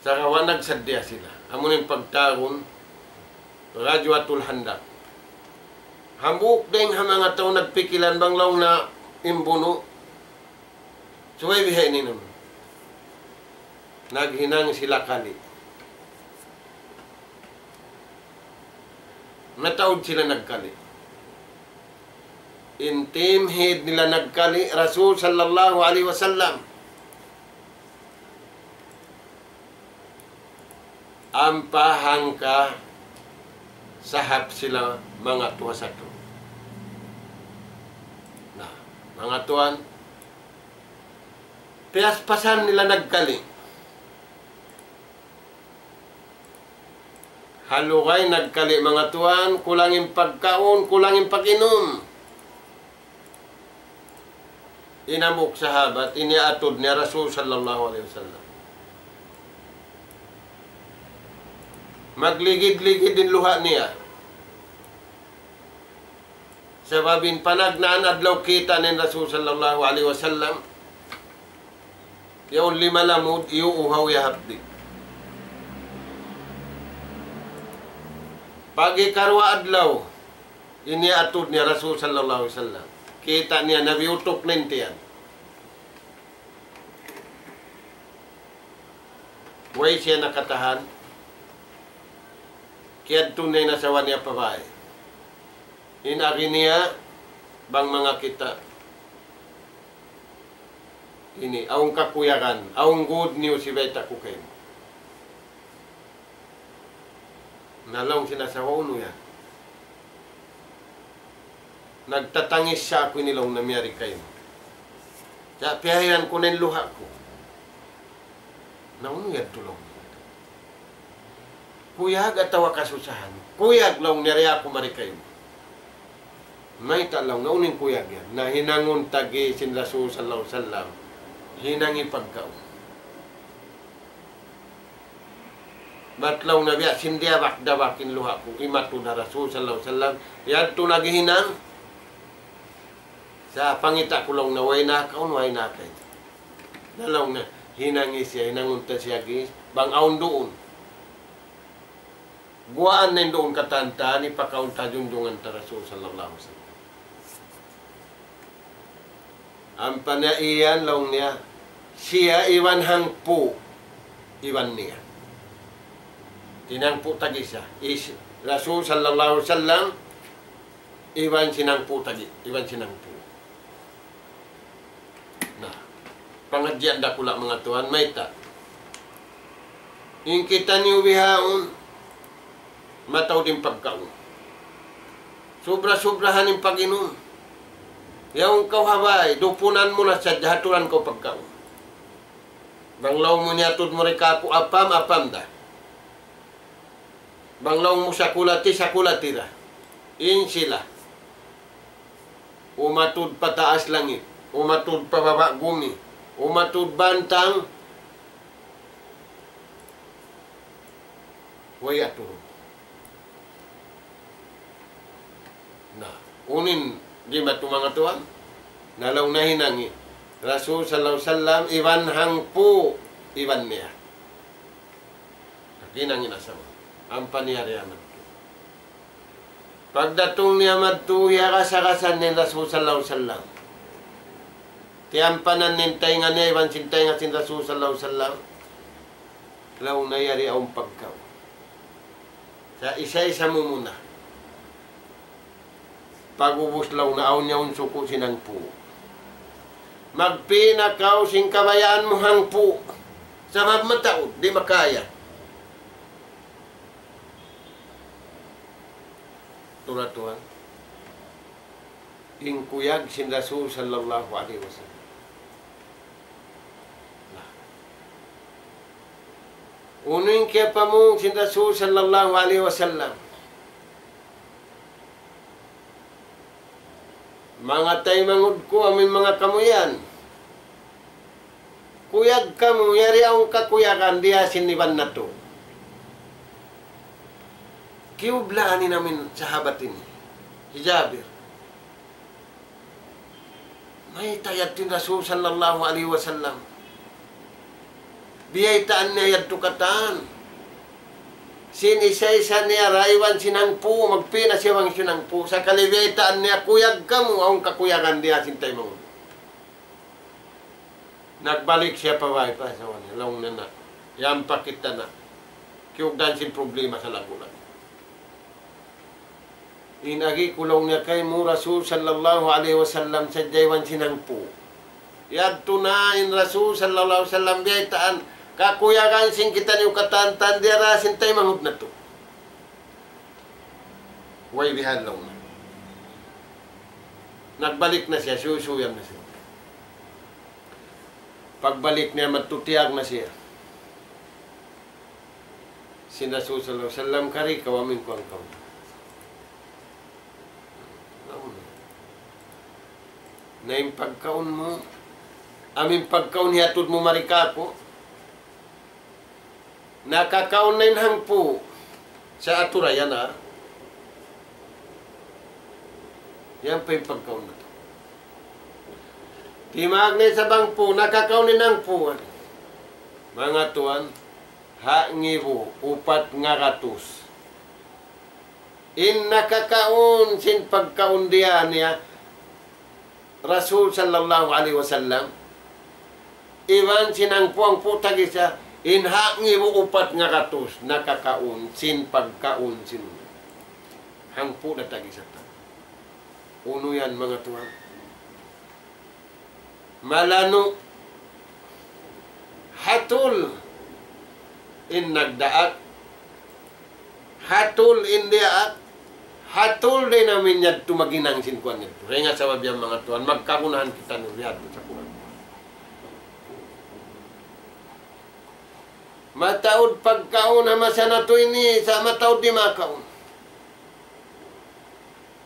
Sagawa' nagsaddiya sila. Amu in pagtawagun Ghazwatul Khandaq. Hambuuk dayn ha manga tau nagpikilan bang laung na in bunu'. Subay bihaini naman. Naghinang sila kali. Mataud sila nagkali. In team head nila nagkali, Rasul sallallahu alayhi wasallam. Ampa hangka sahap sila manga tuwa satu. Na, manga tuwan, piyaspasan nila nagkali. Ha lugay nagkali manga tuwan, kulang in pagkaun, kulang in pag-inum. In hambuuk sahabat, ini atud niya Rasul sallallahu alayhi wasallam. Magligid-ligid in luha' niya. Sabab in panagnaan adlaw kita' niya in Rasul sallallahu alayhi wasallam, yaun lima lamud, iyuuhaw ya hapdi'. Pag ikaruwa adlaw, ini atud niya Rasul sallallahu alayhi wasallam. Kita' niya Nabi utuk na in tiyan. Way siya nakatahan. Kiyadtu niya in asawa niya pa bāy. In agi niya, bang manga kita'. Ini, awn kakuyagan, awn good news hibayta' ku kaymu. Na laung sin asawa, unu yan? Nagtatangis sa aku ini laung na miyari kaymu. Sa' piyahayran ku na in luha' ku. Na unu yadtu laung niya? Kuyag atawa kasusahan? Kuyag laung niya, di' aku mari kaymu. Mayta' laung niya, unu in kuyag yan? Na hinangun tagi sin Rasul sallallahu alayhi wasallam. Hinangi pagkaun. Bat laung niya biya' sin diyabak-dabak in luha' ku, imatud ha Rasul sallallahu alayhi wasallam. Yadtu naghihinang. Sa' pangita' ku laung niya, way nakaun, way nakain. Na laung niya, hinangi siya, hinangun ta siya gi, bang awn duun. Guwaan na in duun katan ta, hipakaun ta ha junjungan ta Rasul sallallahu alayhi wasallam. Ampa niya iyan laung niya, siya iban hangpu', iban niya. Sin hangpu' tag-isa, is Rasul sallallahu alayhi wasallam, iban sin hangpu' tagi, iban sin hangpu'. Na, pangadjian dakula' manga tuwan, mayta'? In kitaniyu bihaun, mataud in pagkaun. Subra-subrahan in pag-inum. Yaun kaw ha bāy, dupunan mu na sadja, haturan kaw pagkaun. Bang laung mu niyatud mu ri kāku' apam, apam da. Bang laung mu sakulati, sakulati da. In sila. Umatud pa taas langit, umatud pa baba' gumi, umatud bantang, way aturun. Na, unu in jimatu manga tuwan, na laung niya hinangi Rasul sallallahu alayhi wasallam, iban hangpu', iban niya. Naghinang in asawa. Ampa niya yari madtu. Pagdatung niya madtu, hiyarasa-rasa niya in Rasul sallallahu alayhi wasallam. Tiyampanan niya in taynga niya iban sin taynga sin Rasul sallallahu alayhi wasallam. Laung niya yari awn pagkaun. Sa' isa-isa mu muna. Pag'ubus laung niya awn yaun suku' sin hangpu'. Magpī na kaw sin kabayaan mu hangpu'. Sabab mataud, di' makaya. Tura tuwan, in kuyag sin Rasul sallallahu alayhi wasallam. Unu in kiyapamung sin Rasul sallallahu alayhi wasallam? Manga taymanghud ku, amu in manga kamu yan. Kuyag kamu, yari awn kakuyagan dii ha sin iban natu'. Kiyublaan in amu in sahabat ini, hi Jabir. Mayta' yadtu in Rasul sallallahu alayhi wasallam? Biyaytaan niya yadtu katan. Sin isa-isa niya ra iban sin hangpu', magpī na siya bang sin hangpu'. Sakali biyaytaan niya, kuyag kamu, awn kakuyagan dii ha sin taymanghud. Nagbalik siya pa bāy pa asawa niya, laung niya na, yan pa kita na. Kiyugdan sin problema sa lagu-lagu. In agi ku laung niya kaymu, Rasul sallallahu alayhi wasallam sadja iban sin hangpu'. Yadtu na in Rasul sallallahu alayhi wasallam biyaytaan, kakuyagan sin kitaniyu katan-katan dii ha sin taymanghud natu'. Way bihan laung niya. Nagbalik na siya, suysuyan na siya. Pagbalik niya, magtutiyag na siya. Sin Rasul sallallahu alayhi wasallam, kari kaw amu in kuwan kaw. Na in pagkaun mu, amu in pagkaun hiyatud mu mari kāku'. Nakakaun na in hangpu'. Sa' atura yan, ha. Yan pa in pagkaun natu'. Timagna' isab hangpu', nakakaun in hangpu'. Manga tuwan, ha ngibu upat ngagatus. In nakakaun sin pagkaun dii ha niya Rasul sallallahu alayhi wasallam, iban sin hangpu'-hangpu' tag-isa, in ha ngibu upat ngagatus nakakaun sin pagkaun sin hangpu' na tag-isa ta. Unu yan, manga tuwan? Malanu', hatul in nagdaak, hatul in diyaak, hatul da in amu in yadtu maghinang sin kuwan yadtu. Dayn ha sabab yan, manga tuwan, magkagunahan kitaniyu biya' ha yadtu sa Qur'an. Mataud pagkaun ha masa natu' ini, sa' mataud di' makaun.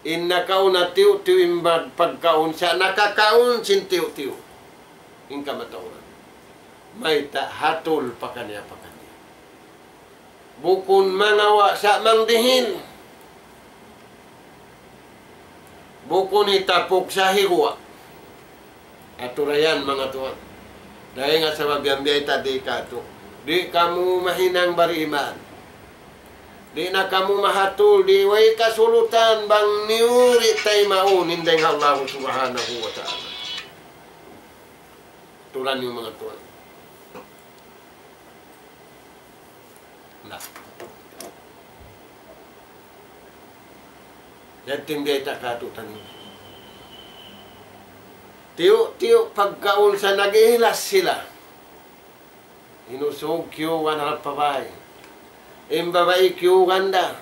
In nakauna tiyu'-tiyu' in mag-, pagkaun, sa' nakakaun sin tiyu'-tiyu' in kamatauran. Mayta'? Hatul pakaniya-pakaniya. Bukun mangawa' sa' mangdihil. Bukun hitapuk sa' higuwa'. Atura yan, manga tuwan. Dayn ha sabab yan biyayta' di' katu'. Di' kamu mahinang bariman. Di' na kamu mahatul, di' way kasulutan bang niyu di' taymaun in dayn ha Allah Subhanahu wa Ta'ala. Turan niyu, manga tuwan. Na. Yadtu in biyayta' katu'taniyu. Tiyu'-tiyu' pagkaun sa' nag-iilas sila. In usug kiyugan harap pa bāy. In babai kiyugan da.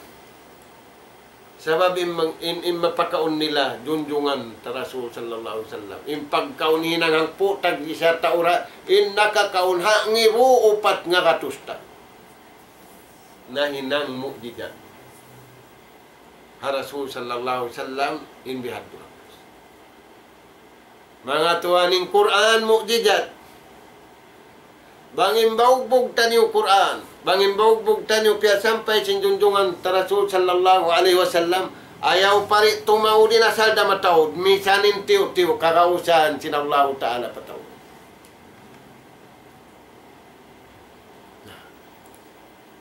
Sabab in mang-, in, in mapakaun nila, junjungan ta Rasul sallallahu alayhi wasallam. In pagkaun hinang hangpu' tag-isa ta ura, in nakakaun ha ngibu upat ngagatus ta. Nahinang mu'jizat ha Rasul sallallahu alayhi wasallam in bihadtu. Manga tuwan, in Qur'an mu'jizat. Bang in baugbug taniyu Qur'an, bang in baugbug taniyu piyasampay sin junjungan ta Rasul sallallahu alayhi wasallam, ayaw pa di' tumaud in asal da mataud, misan in tiyu'-tiyu' kagausan sin Allahu Ta'ala pataud. Na.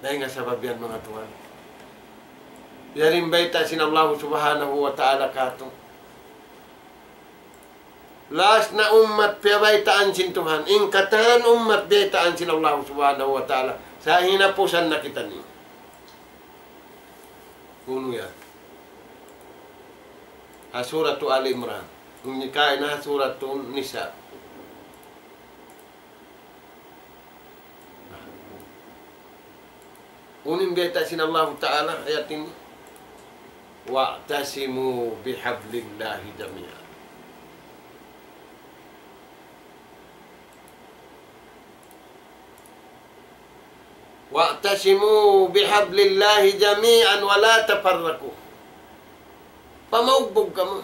Dayn ha sabab yan, manga tuwan. Yari in bayta' sin Allah Subhanahu wa Ta'ala katu'. Laas na ummat piyabaytaan sin Tuhan. In katan ummat biyaytaan sin Allah Subhanahu wa Ta'ala. Sa' hinapusan na kitaniyu. Unu yan? Ha Suratu Ali Imran. Unu kaina ha Suratu Nisa. Unu in bayta' sin Allahu Ta'ala ayat ini? واعتصموا بحبل الله جميعا. واعتصموا بحبل الله جميعا ولا تفرقوا. Pamaugbug kamu.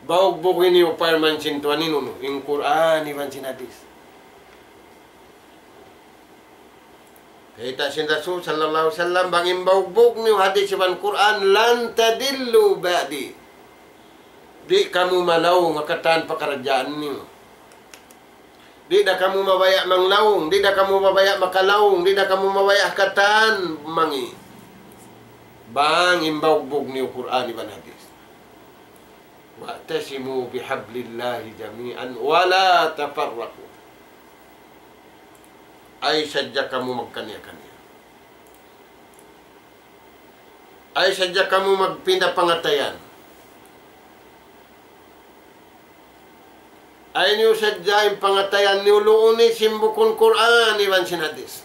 Baugbug ini upama sin Tuhan ini, in Qur'an iban sin hadith. Kita' sin Rasul sallallahu alayhi wasallam, bang in baugbug niyu hadith iban Qur'an, لن تضلوا بعدي. Di' kamu malaung ha katan pakaradjaan niyu. Di' da kamu mabaya' manglaung, di' da kamu mabaya' makalaung, di' da kamu mabaya' katan mangi'. Bang in baugbug niyu Qur'an iban hadith. واعتصموا بحبل الله جميعا ولا تفرقوا. Ayaw sadja kamu magkaniya-kaniya. Ayaw sadja kamu magpinda pangatayan. Ayaw niyu sadja in pangatayan niyu luuni sin bukun Qur'an iban sin hadith.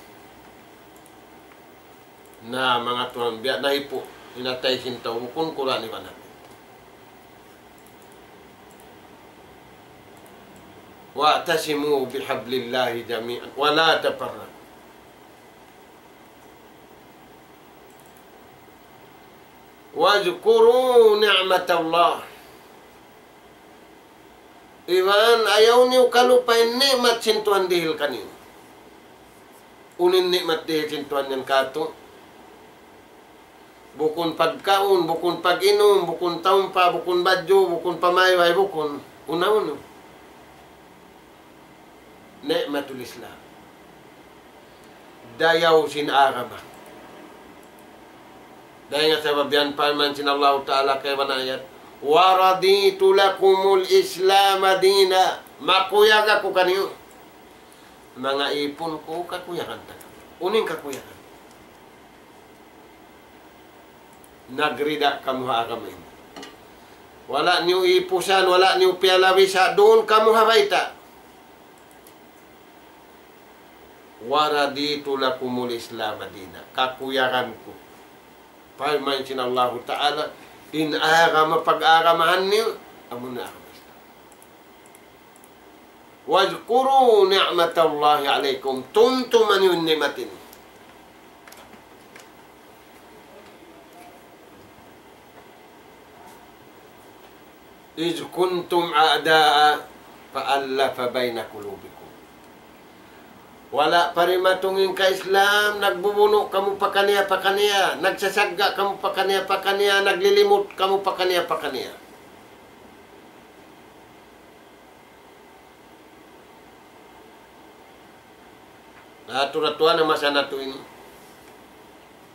Na, manga tuwan, biya' na hipu', in atay sin tau, bukun Qur'an iban hadith. واعتصموا بحبل الله جميعا ولا تفرقوا. واذكروا نعمة الله. Iban ayaw niyu kalupahi in ni'mat sin Tuhan dihil kaniyu. Unu in ni'mat dihil sin Tuhan yan kātu'? Bukun pagkaun, bukun pag-inum, bukun taumpa, bukun badju', bukun pamayway, bukun unu-unu. Ni'matul Islam. Dayaw sin agama. Dayn ha sabab yan parman sin Allahu Ta'ala kaibanan ayat, ورضيت لكم الإسلام دينا. Makuyag aku kaniyu. Manga ipun ku, kakuyagan ta kamu. Unu in kakuyagan? Nagrida kamu ha agama ini. Wala' niyu ipusan, wala' niyu piyalawisa, duun kamu ha bayta'. ورضيت لكم الإسلام دينا. Kakuyagan ku. Parman sin Allahu Ta'ala, in agama pag-agamahan niyu, amu na agama Islam. واذكروا نعمة الله عليكم. Tumtuma niyu in ni'mat ini. إذ كنتم أعداء فألف بين قلوبكم. Wala' pa dimatung in ka-Islam, nagbubunu' kamu pakaniya-pakaniya, nagsasagga' kamu pakaniya-pakaniya, naglilimut kamu pakaniya-pakaniya. Na, atu ra tuwan in masa natu' ini.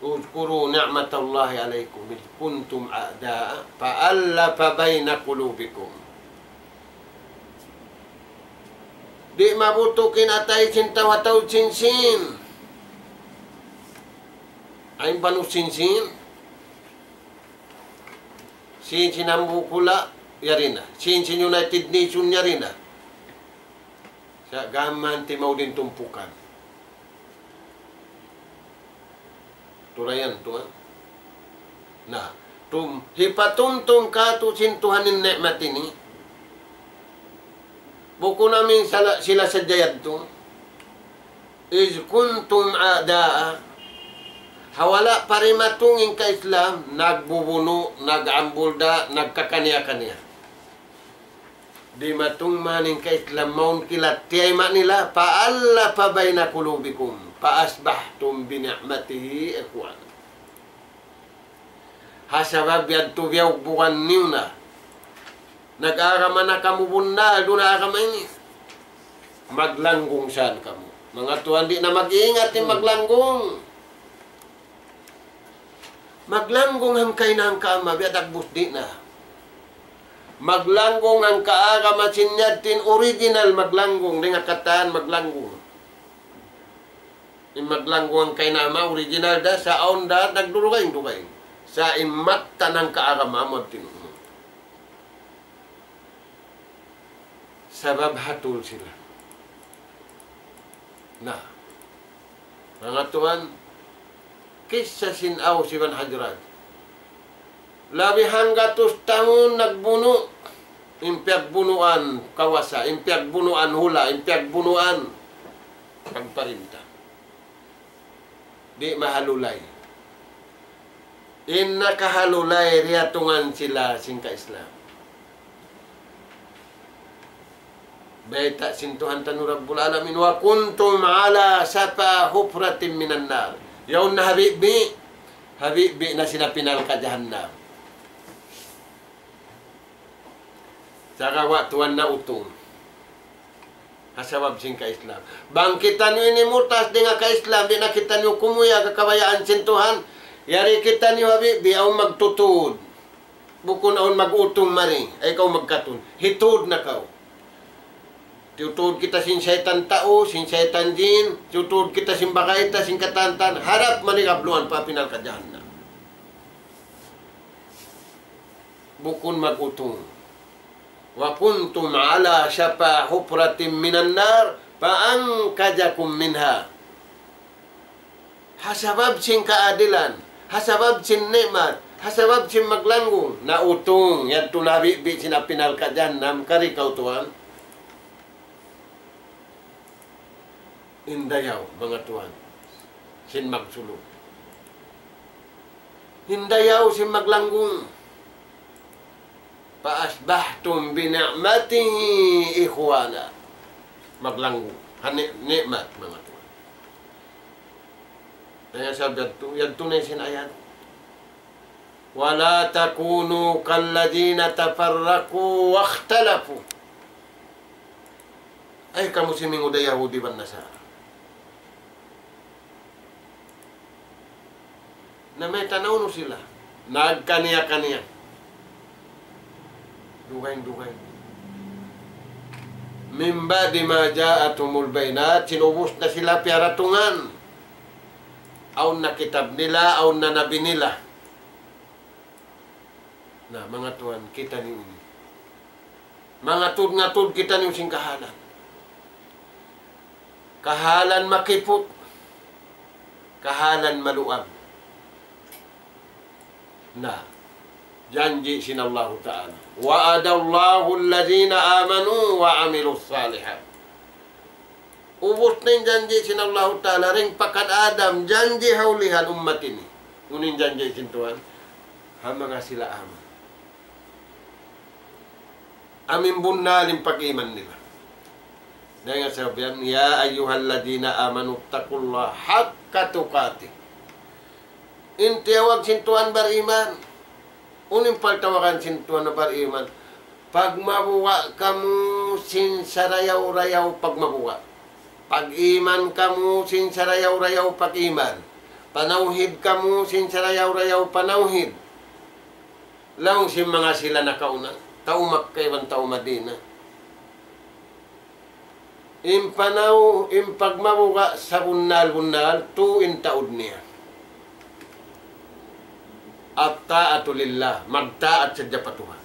اذكروا نعمة الله عليكم إذ كنتم أعداء فألف بين قلوبكم. Di' mabutuk in atay sin tau ha taud sin Sin. Ayn Banu Sin Sin. Sin sin hambuuk hula', yari na. Sin sin United Nation, yari na. Sa' gam man timaud in tumpukan. Turayan tuwan. Na, tum-, hipatumtum kātu' sin Tuhan in ni'mat ini. Bukun amu in sala-, sila sadja yadtu. إذ كنتم أعداء. Ha wala' pa dimatung in ka-Islam, nagbubunu', nag-ambulda', nagkakaniya-kaniya. Dimatung man in ka-Islam mawn kilat tiyayma' nila, فألف بين قلوبكم، فأصبحتم بنعمته إخوانا. Ha sabab yadtu biyugbugan niyu na. Nag-agama na kamu bunnal, duun ha agama ini. Maglanggung saan kamu. Manga tuwan, di' na mag-ingat in maglanggung. Maglanggung hangka ina' hangka ama', biya' dagbus di' na. Maglanggung hangka agama sin yadtu in original maglanggung, dayn ha katan maglanggung. In maglanggung hangka ina' ama' original da, sa' awn da nagdurugaing-dugaing. Sa' in mattan hangka agama amu yadtu in unu. Sabab hatul sila. Na. Manga tuwan, kissa sin Aws iban Hazraj. Labi hanggatus tahun nagbunu'. In piyagbunuan kawasa, in piyagbunuan hula', in piyagbunuan pagparinta. Di' mahalulay. In nakahalulay, riyatungan sila sin ka-Islam. Bayta' sin Tuhan tanu Rabbul Alamin, وكنتم على شفا حفرة من النار. Yaun na ha bibi', ha bibi' na sin api narka' jahannam. Sagawa' tuwan na utung. Ha sabab sin ka-Islam. Bang kitaniyu ini murtas dayn ha ka-Islam, di' na kitaniyu kumuyag ha kabayaan sin Tuhan. Yari kitaniyu ha bibi', awn magtutud. Bukun awn mag-utung mari, ay kaw magkatun. Hitud na kaw. Tiyutud kita sin saytan tau, sin saytan jin, tiyutud kita sin bagay ta, sin katantan, harap mani kabluan pa api narka' jahannam. Bukun mag-utung. وكنتم على شفا حفرة من النار فأنقذكم منها. Ha sabab sin kaadilan, ha sabab sin ni'mat, ha sabab sin maglanggung, nautung, yadtu na ha bibi' sin api narka' jahannam, kari kaw tuwan. In dayaw, manga tuwan, sin magsulub. In dayaw sin maglanggung. فأصبحتم بنعمته إخوانا. Maglanggung. Ha ni-, ni'mat, manga tuwan. Kaya sabab yadtu, yadtu na sin ayat. ولا تكونوا كالذين تفرقوا واختلفوا. Ay kamu simingud ha Yahudi iban Nasara. Na mayta' na unu sila? Nagkaniya-kaniya. Dugaing-dugaing. من بعد ما جاءتهم البينات, sin ubus na sila piyaratungan. Awn na kitab nila, awn na nabi nila. Na, manga tuwan, kitaniyu ini. Mangatud-ngatud kitaniyu sin kahalan. Kahalan makiput. Kahalan maluag. Na, janji' sin Allahu Ta'ala. وعد الله الذين آمنوا وعملوا الصالحات. Ubus na in janji' sin Allahu Ta'ala, dayn pa kan Adam, janji' ha ulihan ummat ini. Unu in janji' sin Tuhan? Ha manga sila aman. Amu in bunnal in pag-iman nila. Dayn ha sabab yan, يا أيها الذين آمنوا اتقوا الله حق تقاته. In tiyawag sin Tuhan bariman. Unu in pagtawagan sin Tuhan na bariman? Pagmabuga' kamu sin sarayaw-rayaw pagmabuga'. Pag-iman kamu sin sarayaw-rayaw pag-iman. Panawhid kamu sin sarayaw-rayaw panawhid. Laung sin manga sila nakauna, tau Makkah iban tau Madinah. In panaw, in pagmabuga' sabunnal-bunnal, tū in taud niya. الطاعة لله, magtaat sadja pa Tuhan.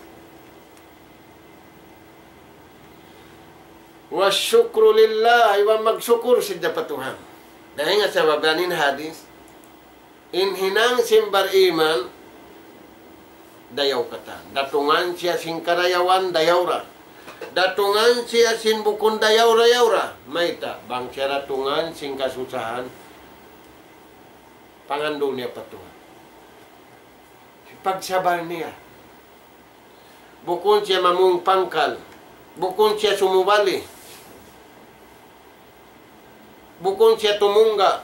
والشكر لله, iban magsukur sadja pa Tuhan. Dayn ha sabab yan in hadis, in hinang sin bariman, dayaw katan. Datungan siya sin karayawan, dayaw ra. Datungan siya sin bukun dayaw, dayaw ra. Mayta', bang siya datungan sin kasusahan, pangandul niya pa Tuhan. Pagsabal niya. Bukun siya mamung pangkal. Bukun siya sumubali. Bukun siya tumungga'.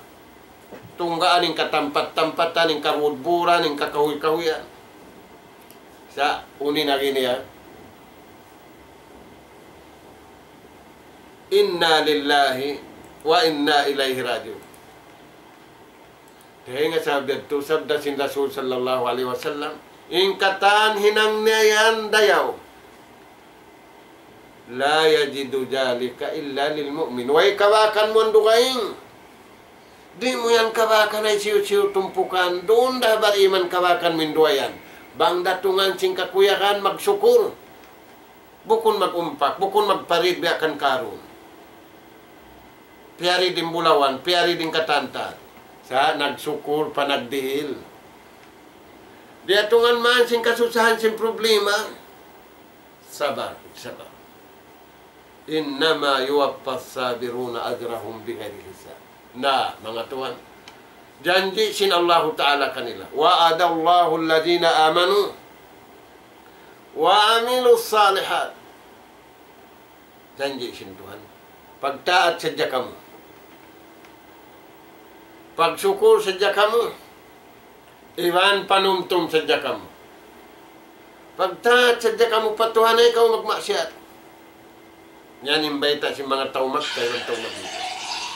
Tunggaan in katampat-tampatan, in kabudburan, in kakahuy-kahuyan. Sa' unu in agi niya? إنا لله وإنا إليه راجعون. Dayn ha sabab yadtu, sabda sin Rasul sallallahu alayhi wasallam, in katan hinang niya yan dayaw. لا يجد ذلك إلا للمؤمن. Way kabakan mu yan dugaing. Di' mu yan kabakan hisiyu-siyu tumpukan. Duun da bariman kabakan mu in duwa yan. Bang datungan sin kakuyagan, magsukur. Bukun mag-umpak, bukun magparid biya' kan Karun. Piyarid in bulawan, piyarid in katantan. Sa' nagsukur pa nagdihil. Diyatungan man sin kasusahan, sin problema, sabar, sabar. إنما يوفى الصابرون أجرهم بغير حساب. Na, manga tuwan, janji' sin Allahu Ta'ala kanila, وعد الله الذين آمنوا وعملوا الصالحات. Janji' sin Tuhan. Pagtaat sadja kamu. Pagsukul sadja kamu. Iban panumtum sadja kamu. Pagtaat sadja kamu pa Tuhan, ayaw kamu magmaksiyat. Yan in bayta' sin manga tau Makkah iban tau Madinah.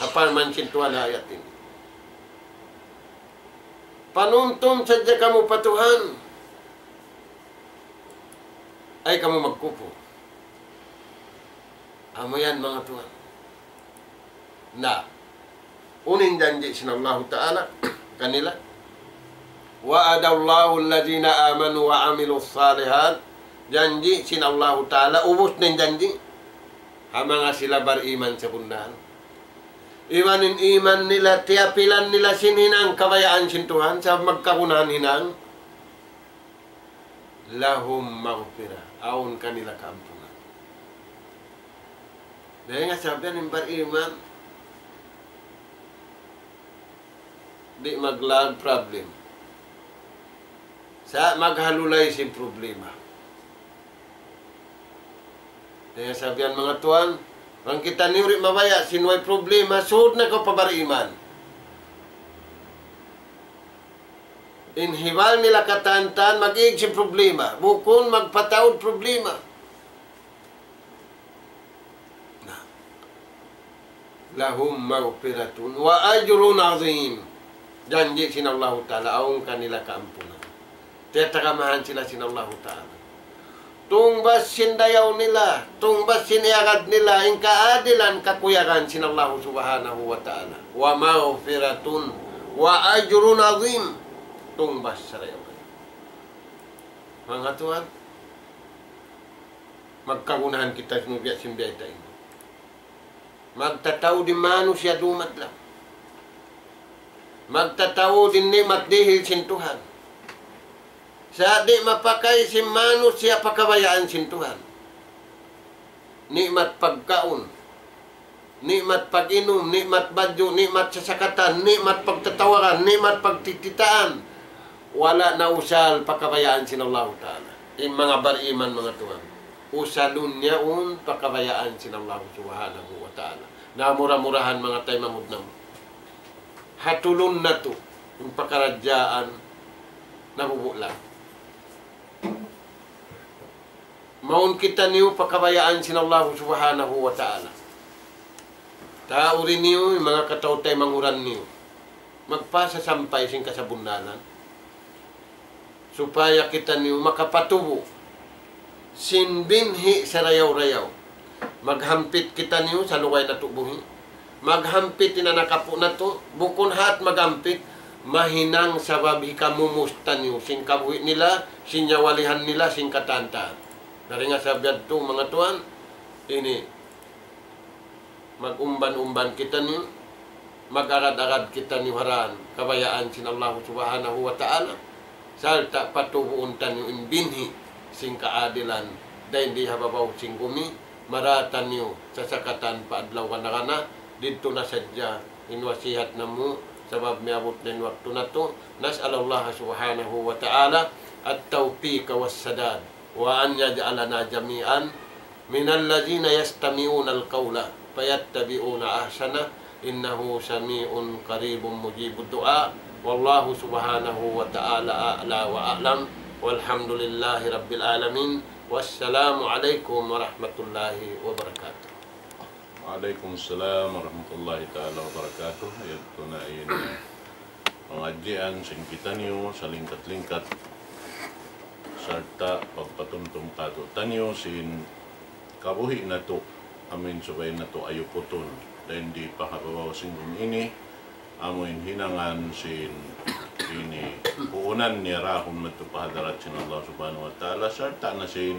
Apabila man sin Tuhan ha ayat ini. Panumtum sadja kamu pa Tuhan. Ayaw kamu magkupur. Amu yan, manga tuwan. Na, unu in janji' sin Allahu Ta'ala kanila. وعد الله الذين آمنوا وعملوا الصالحات. Janji' sin Allahu Ta'ala, ubus na in janji'. Ha manga sila bariman sabunnal. Iban in iman nila, tiyapilan nila sin hinang kabayaan sin Tuhan, sa' magkagunahan hinang. لهم مغفرة, awn kanila kaampunan. Dayn ha sabab yan in bariman, di' maglag problem. Sa' maghalulay sin problema. Dayn ha sabab yan, manga tuwan, bang kitaniyu di' mabaya' sin way problema, sud na kaw pa bariman. In hibal nila katantan, mag-ig sin problema. Bukun magpataud problema. Na. لهم مغفرة وأجر عظيم. Janji' sin Allahu Ta'ala, awn kanila kaampunan. Tiyatagamahan sila sin Allahu Ta'ala. Tungbas sin dayaw nila, tungbas sin iyagad nila, in kaadilan kakuyagan sin Allahu Subhanahu wa Ta'ala. ومغفرة وأجر عظيم. Tungbas sarayaw. Manga tuwan, magkagunahan kita sin biya' sin bayta' ini. Magtataud in manusiya' dumadlaw. Magtataud in ni'mat dihil sin Tuhan. Sa' di' mapakay sin manusiya' pa kabayaan sin Tuhan. Ni'mat pagkaun, ni'mat pag-inum, ni'mat badju', ni'mat sasakatan, ni'mat pagtatawaran, ni'mat pagtikitaan. Wala' na usal pa kabayaan sin Allahu Ta'ala. In manga bariman, manga tuwan, usalun niya yaun pa kabayaan sin Allahu Subhanahu wa Ta'ala. Na mura-murahan, manga taymanghud namu', hatulun natu' in pakaradjaan nabubulang. Mawn kitaniyu pa kabayaan sin Allahu Subhanahu wa Ta'ala. Tauri niyu in manga kataw-taymanghud niyu magpasasampay sin kasabunnalan, supaya kitaniyu makapatubu' sin binhi' sarayaw-rayaw. Maghampit kitaniyu salugay natu' buhi'. Maghampit in anak apu' natu', bukun hat maghampit, mahinang sabab hikamumus taniyu sin kabuhi' nila, sin nyawalihan nila, sin katantan. Dayn ha sabab yadtu, manga tuwan, ini, mag-umban-umban kitaniyu, mag-agad-agad kitaniyu ha dan kabayaan sin Allahu Subhanahu wa Ta'ala, sarta' patubuun taniyu in binhi' sin kaadilan dayn di ha babaw sin gumi, mara taniyu sasakatan pa adlaw kana-kana. Didtu na sadja in wasihat namu', sabab miyabut na in waktu natu'. نسأل الله سبحانه وتعالى التوفيق والسداد، وأن يجعلنا جميعا من الذين يستمعون القول فيتبعون أحسنه، إنه سميع قريب مجيب الدعاء. والله سبحانه وتعالى أعلى وأعلم، والحمد لله رب العالمين، والسلام عليكم ورحمة الله وبركاته. وعليكم السلام ورحمة الله تعالى وبركاته. Yadtu na in pangadjian sin kitaniyu salingkat-lingkat sarta' pagpatumtum kātu'niyu sin kabuhi' natu', amuin subay natu' ayuputun dayn di pa ha babaw sin gumi ini, amuin hinangan sin ini puunan niya dahun madtu pa hadarat sin Allah Subhanahu wa Ta'ala, sarta' na sin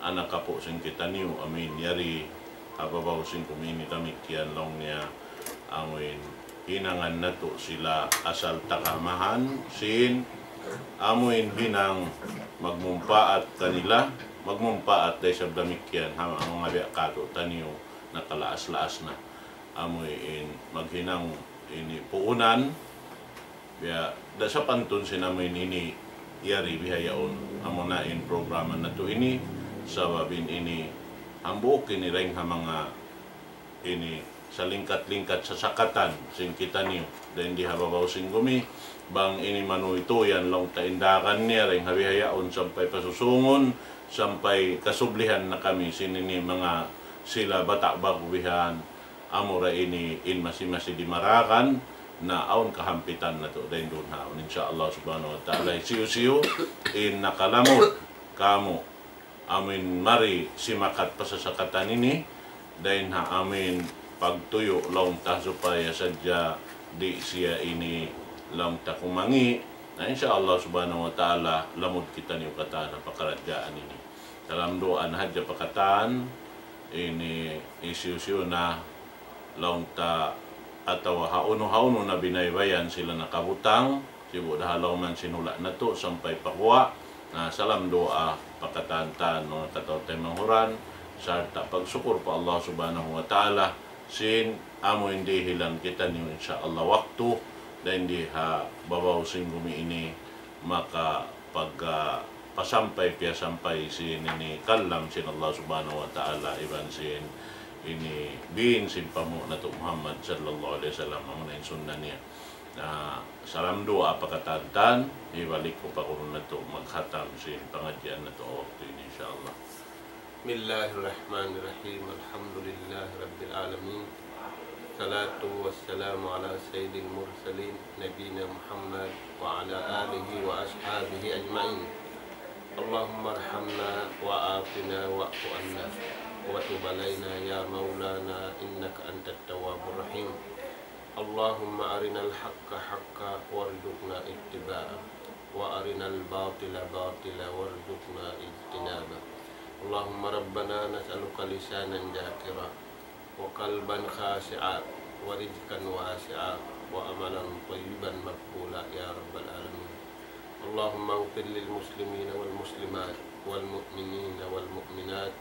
anak apu' sin kitaniyu, amuin yari ha babaw sin gumi ini damikkiyan laung niya, amuin hinangan natu' sila asal tagamahan sin amu in hinang magmumpaat kanila, magmumpaat da isab damikkiyan ha manga biya' kātu'niyu nakalaas-laas na. Amu in maghinang ini puunan, biya' da sapantun sin amu in ini yari bihaun. Amu na in programa natu' ini, sabab in ini hambuuk ini dayn ha manga ini salingkat-lingkat sasakatan sin kitaniyu. Dayn di ha babaw sin gumi, bang ini manuytuyan laung ta in dagan niya dayn ha bihaun sampay pa susungun, sampay kasublihan na kami sin ini manga sila bata' ba'gu bihan, amura ini in masi-masi dimaragan, na awn kahampitan natu' dayn duun ha yaun. Insya Allah subhanahu wa ta'ala, hisiyu-siyu in nakalamud kāmu' amu in mari simakat pa sasakatan ini, dayn ha amu in pagtuyu' laung ta supaya sadja di' siya ini laung ta kumangi'. Na insya Allah subhanahu wa ta'ala, lamud kitaniyu katan ha pakaradjaan ini. Dalam duwaa na hadja pa katan, ini hisiyu-siyu na laung ta atawa hawnu-hawnu na binaybayan sila nakabutang, sibu' da ha lawm sin hula' natu' sampay pa guwa'. Na salam duwaa pa katan-katan manga kataw-taymanghuran, sarta' pagsukur pa Allah subhanahu wa ta'ala, sin amu in dihilan kitaniyu insya Allah waktu, dayn di ha babaw sin gumi ini, maka pag, ah, pasampay piyasampay sin ini kalam sin Allah subhanahu wa ta'ala iban sin ini bin sin panghu' natu' Muhammad sallallahu alayhi wasallam, amu na in sunna niya. Na salam duwaa pa katan-katan, hibalik ku pa guru natu' maghatam sin pangadjian natu' waktu ini insya Allah. بسم الله الرحمن الرحيم. الحمد لله رب العالمين. الصلاة والسلام على سيد المرسلين نبينا محمد وعلى آله وأصحابه أجمعين. اللهم ارحمنا وعافنا واعف عنا وتب علينا يا مولانا إنك أنت التواب الرحيم. اللهم أرنا الحق حقا وارزقنا اتباعه، وأرنا الباطل باطلا وارزقنا اجتنابه. اللهم ربنا نسألك لسانا ذاكرا وقلبا خاشعا ورزقا واسعا وعملا طيبا مقبولا يا رب العالمين. اللهم اغفر للمسلمين والمسلمات والمؤمنين والمؤمنات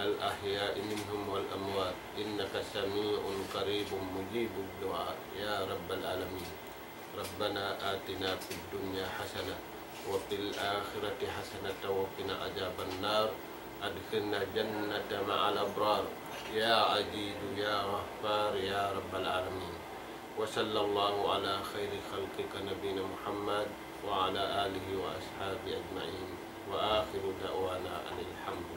الأحياء منهم والأموات إنك سميع قريب مجيب الدعاء يا رب العالمين. ربنا آتنا في الدنيا حسنة وفي الآخرة حسنة وقنا عذاب النار. أدخلنا الجنة مع الأبرار يا عزيز يا غفار يا رب العالمين. وصلى الله على خير خلقك نبينا محمد وعلى آله وأصحابه أجمعين. وآخر دعوانا أن الحمد